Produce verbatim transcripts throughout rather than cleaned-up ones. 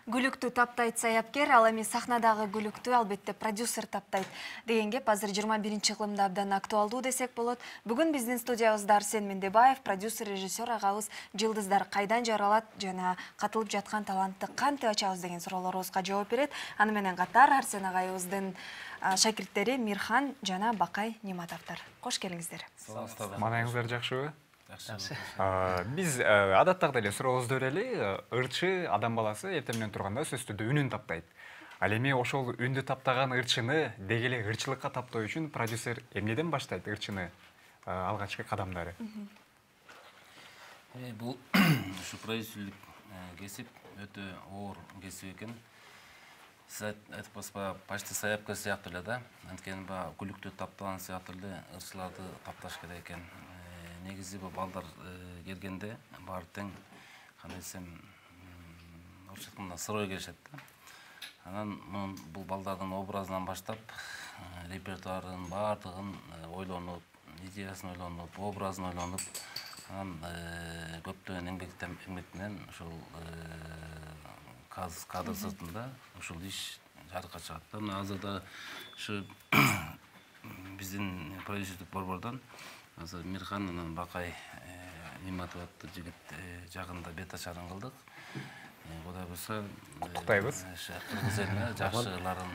Гүлүктү таптайт саяпкер, ал эми сахнадагы гүлүктү албетте продюсер таптайт деген кеп азыр жыйырма биринчи кылымда абдан актуалдуу десек болот. Бүгүн биздин студиябызда Арсен Мендебаев, продюсер, режиссер агабыз жылдыздар кайдан жаралат жана катылып жаткан талантты кантип ачабыз деген суроолорубузга жооп берет. Аны менен катар Арсен агайыбыздын шакирттери Мирхан жана Бакай Нематовдор. Кош келиңиздер. Маанайыңыздар жакшыбы? Жакшы. Биз адаттагыдай эле сурообузду берели. Ырчы адам баласы эртең менен турганда сөзсүз түрдө үнүн таптайт. Ал эми ошол үндү таптаган ырчыны деги эле ырчылыкка таптоо үчүн продюсер эмнеден баштайт ырчыны алгачкы кадамдары? Бул ушу продюсерлик кесип өтө оор кесип экен. Сиз айтпаспа почти саяпкер сыяктуу эле да. Анткени баягы гүлүктү таптаган сыяктуу эле ырчыларды тапташ керек экен. Негизи бул балдар келгенде баары тең кандай десем, орусча айтканда сырой келишет да. Анан бул балдардын образынан баштап репертуарын баардыгын ойлонуп, идеясын ойлонуп, образын ойлонуп, анан көптөгөн эмгектен эмгек менен ушул кадр сыртында ушул иш жарыкка чыгат да. Мына азырда ушу биздин продюсерлик борбордон азыр Мирхан анан Бакай Нематов аттуу жигит жагында бет ачарын кылдык. Кудай буйрса, куттуктайбыз. Кыргыз элине жакшыларын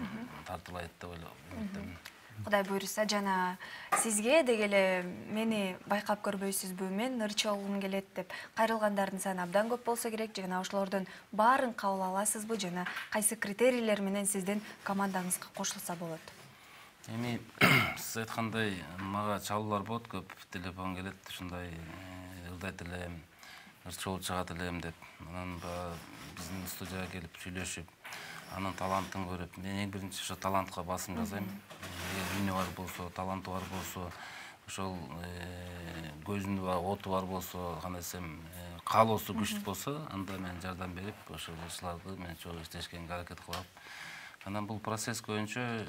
тартуулайт деп ойлойм. Кудай буйрса, жана сизге деги эле мени байкап көрбөйсүзбү, мен ырчы болгум келет деп кайрылгандардын саны абдан көп болсо керек. Жана ошолордун баарын кабыл аласызбы жана кайсы критерийлер менен сиздин командаңызга кошулса болот? Эми сиз айткандай мага чалуулар болот, көп телефон келет, ушундай ырдайт элем, ырчы болуп чыгат элем деп. Анан биздин студияга келип сүйлөшүп, анын талантын көрүп, мен эң биринчи ошо талантка басым жасайм. Эгер үнү бар болсо, таланты бар болсо, ошол көзүнүн оту бар болсо, кандай десем, каалоосу күчтүү болсо, анда мен жардам берип, ошол ырчыларды мен чогуу иштешкенге аракет кылам. Анан бул процесс көбүнчө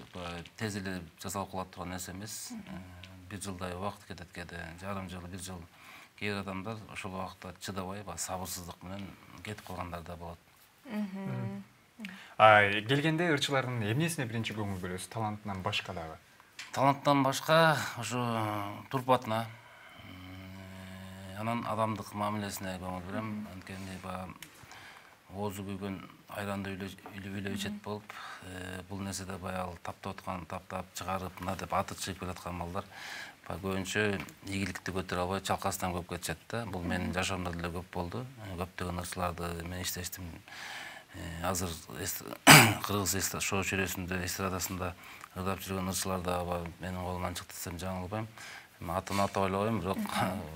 тез эле жасалып калат турган нерсе эмес. Бир жылдай убакыт кетет кээде, жарым жыл, бир жыл. Кээ бир адамдар ошол убакытта чыдабай, сабырсыздык менен кетип калгандар да болот. Келгенде ырчылардын эмнесине биринчи көңүл бөлөсүз, талантынан башка дагы? Таланттан башка ошо турпатына, анан адамдык мамилесине көңүл берем. Анткени баягы оозу күйгөн айранды үйлөп ичет болуп, бул нерседе баягы таптап аткан, таптап чыгарып, мына деп аты чыгып келаткан балдар көбүнчө ийгиликти көтөрө албай чалкасынан көп кетишет да. Бул менин жашоомдо деле көп болду. Көптөгөн ырчыларды мен иштештим. Азыр Кыргыз шоу чүрөсүндө, эстрадасында ырдап жүргөн ырчылар дагы менин колумдан чыкты десем жаңылбайм. Атын атап ойлобойм, бирок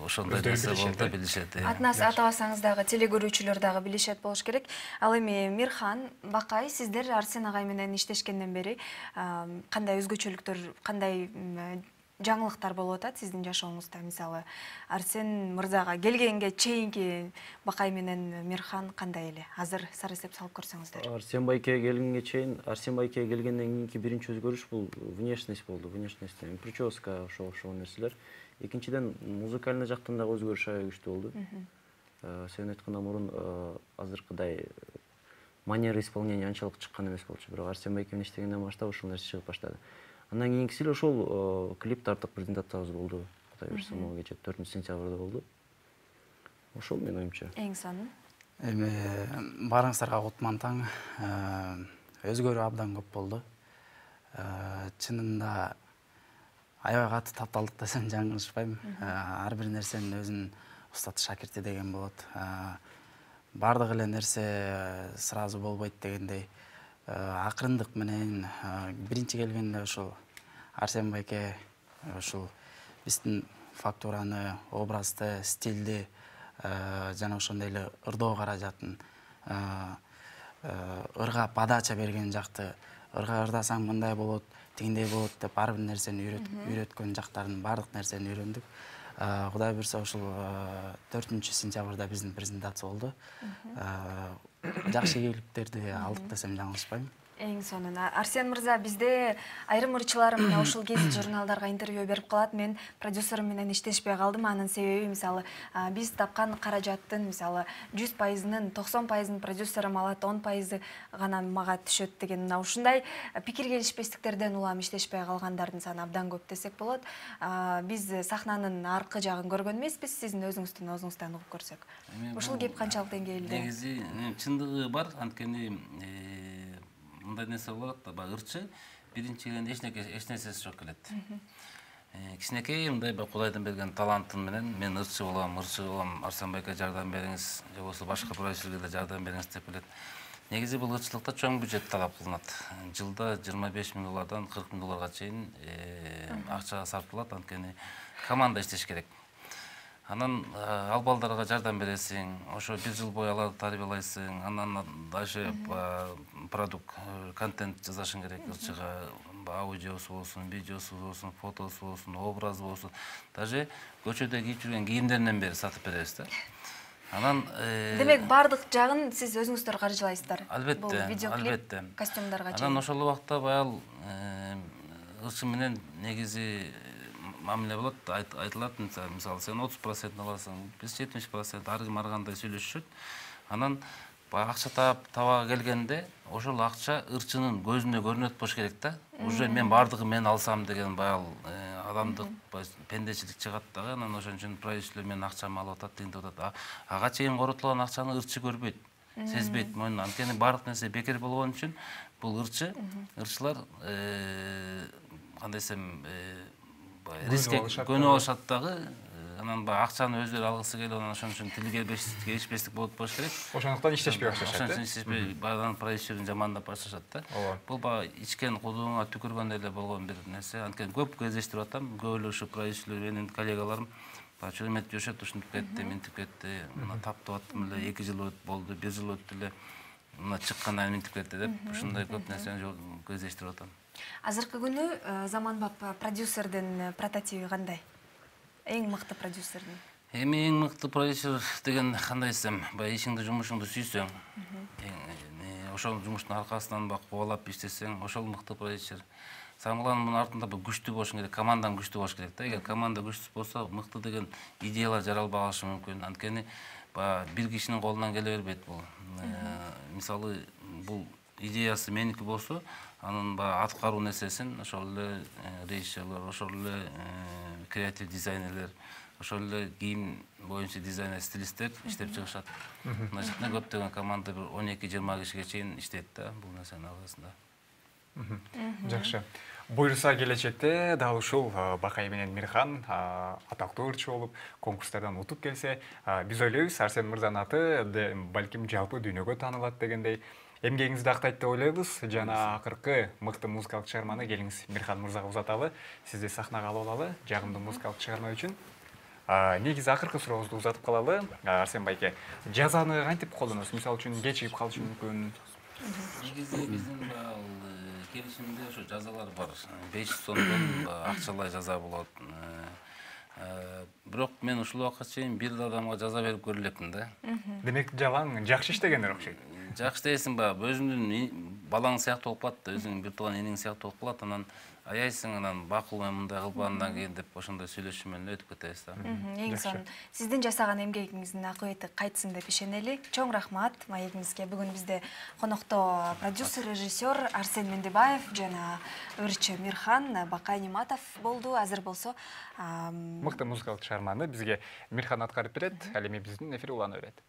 ошондой нерсе болду, билишет. Атын атабасаңыз дагы телекөрүүчүлөр дагы билишет болуш керек. Ал эми Мирхан, Бакай, сиздер Арсен агай менен иштешкенден бери кандай өзгөчөлүктөр, кандай жаңылыктар болуп атат сиздин жашооңузда? Мисалы, Арсен мырзага келгенге чейинки Бакай менен Мирхан кандай эле? Азыр сары эсеп салып көрсөңүздөр. Арсен байке келгенге чейин, Арсен байке келгенден кийинки биринчи өзгөрүш бул внешность болду. Внешность, прическа, ошол ошол нерселер. Экинчиден, музыкальный жактан дагы өзгөрүш аябай күчтүү болду. Сен айткандан мурун азыркыдай манера исполнения анчалык чыккан эмес болчу, бирок Арсен байке менен иштегенден баштап ошол нерсе чыгып баштады. Андан кийинкиси эле ошол клип тарттык презентациябыз болду. Кудай буйрса, могу кече төртүнчү сентябрда болду. Ошол менин оюмча. Эң сонун. Эми баарыңыздарга кутман таң. Өзгөрүү абдан көп болду. Чынында аябай катуу тапталдык десем жаңылышпайм. Ар бир нерсенин өзүнүн устаты шакирти деген болот. Бардык эле нерсе сразу болбойт дегендей. Акырындык менен биринчи келгенде ошол Арсен байке ошол биздин фактураны, образды, стилди жана ошондой эле ырдоо каражатын, ырга подача берген жакты, ырга ырдасаң мындай болот, тигиндей болот деп ар бир нерсени үйрөткөн жактарын, бардык нерсени үйрөндүк. Кудай буйрса ошол төртүнчү сентябрда биздин презентация болду. Жакшы ийгиликтерди алдык десем жаңылышпайм. Эң сонун. Арсен мырза, бизде айрым ырчылар мына ушул кез журналдарга интервью берип калат. Мен продюсерим менен иштешпей калдым. Анын себеби мисалы биз тапкан каражаттын мисалы жүз пайызынын токсон пайызын продюсерим алат, он пайызы гана мага түшөт деген мына ушундай пикир келишпестиктерден улам иштешпей калгандардын саны абдан көп десек болот. Биз сахнанын аркы жагын көргөн эмеспиз, сиздин өзүңүздүн өзүңүздөн угуп көрсөк. Ушул кеп канчалык деңгээлде? Негизи чындыгы бар, анткени мындай нерсе болот да, баягы ырчы биринчиден эч нерсеси жок келет. Кичинекей мындай Кудайдан берген талантым менен мен ырчы болом, ырчы болом, Арсен байке жардам бериңиз, же болбосо башка продюсерлерге жардам бериңиз деп келет. Негизи бул ырчылыкта чоң бюджет талап кылынат. Жылда жыйырма беш миң доллардан кырк миң долларга чейин акча сарпталат, анткени команда иштеш керек. Анан ал балдарга жардам бересиң, ошо бир жыл бою аларды тарбиялайсың, анан дальше продукт, контент жазашың керек, ырчыга аудиосу болсун, видеосу болсун, фотосу болсун, образы болсун. Даже көчөдө кийип жүргөн кийимдеринен бери сатып беребиз да. Анан демек бардык жагын сиз өзүңүздөр каржылайсыздар. Албетте, албетте. Костюмдарга чейин. Анан ошол убакта баял ырчы менен негизи мамиле болот, айтылат, мисалы сен отуз процент аласың, биз жетимиш процент ар ким ар кандай сүйлөшүшөт. Анан баягы акча таба келгенде ошол акча ырчынын көзүнө көрүнөт болуш керек да. Уже мен бардыгын мен алсам деген баял адамдык пендечилик чыгат дагы. Анан ошон үчүн продюсерлер менин акчамды алып атат, тигинтип атат. Ага чейин коротулган акчаны ырчы көрбөйт, сезбейт мойнуна. Анткени бардык нерсе бекер болгон үчүн бул ырчы, ырчылар кандай десем риске көнүп алышат дагы. Анан баягы акчаны өздөрү алгысы келип, анан ошон үчүн тил келишпестик болуп болуш керек. Ошондуктан иштешпей башташат. Ошон үчүн иштешпей, баягы продюсерин жамандап башташат да. Бул баягы ичкен кудууңа түкүргөндөй эле болгон бир нерсе. Анткени көп кездештирип атам, көп эле ушу продюсерлер менин коллегаларым баягы чөмөт жашат, ушинтип кетти, мынтип кетти, мына таптап аттым эле, эки жыл болду, бир жыл өттү эле, мына чыккандан мынтип кетти деп, ушундай көп нерсени кездештирип атам. Азыркы күнү заманбап продюсердин прототиби кандай? Эң мыкты продюсердин? Эми эң мыкты продюсер деген кандай десем, баягы ишиңди, жумушуңду сүйсөң, ошол жумуштун аркасынан баягы кубалап иштесең, ошол мыкты продюсер. Самыйланын мунун артында күчтүү болуш керек, командаң күчтүү болуш керек да. Эгер команда күчсүз болсо, мыкты деген идеялар жаралбай калышы мүмкүн. Анткени баягы бир кишинин колунан келе бербейт бул. Мисалы, бул идеясы меники болсо, анын баягы аткаруу нерсесин ошол эле режиссерлор, ошол эле креатив дизайнерлер, ошол эле кийим боюнча дизайнер, стилисттер иштеп чыгышат. Мына жерде көптөгөн команда бир он эки жыйырма кишиге чейин иштейт да бул нерсенин аркасында. Жакшы. Буюрса келечекте дал ушул Бакай менен Мирхан атактуу ырчы болуп, конкурстардан утуп келсе, биз ойлойбуз Арсен мырзанын аты балким жалпы дүйнөгө таанылат дегендей. Эмгегиңизди актайт деп ойлойбуз. Жана акыркы мыкты музыкалык чыгарманы келиңиз Мирхан мырзага узаталы. Сизди сахнага алып алалы жагымдуу музыкалык чыгарма үчүн. Негизи акыркы сурообузду узатып калалы. Арсен байке, жазаны кантип колдоносуз? Мисалы үчүн кечигип калышы мүмкүн. Негизи биздин келишимде ошо жазалар бар. беш жүз сомдон акчалай жаза болот. Бирок мен ушул убакка чейин бир адамга жаза берип көрө элекмин да. Демек жалаң жакшы иштегендер окшойт. Жакшы дейсиң ба, өзүңдүн балаң сыяктуу болуп калат, өзүңдүн бир тууган эниң сыяктуу болуп калат, анан аяйсың, анан бакыл мен мындай кылбагандан кийин деп ошондой сүйлөшүү менен өтүп кетебиз да. Эң сонун. Сиздин жасаган эмгегиңиздин акыбети кайтсын деп ишенели. Чоң рахмат маегиңизге. Бүгүн бизде конокто продюсер, режиссер Арсен Мендебаев жана ырчы Мирхан Бакай Ниматов болду. Азыр болсо мыкты музыкалык чыгарманы бизге Мирхан аткарып берет, ал эми биздин эфир уланып берет.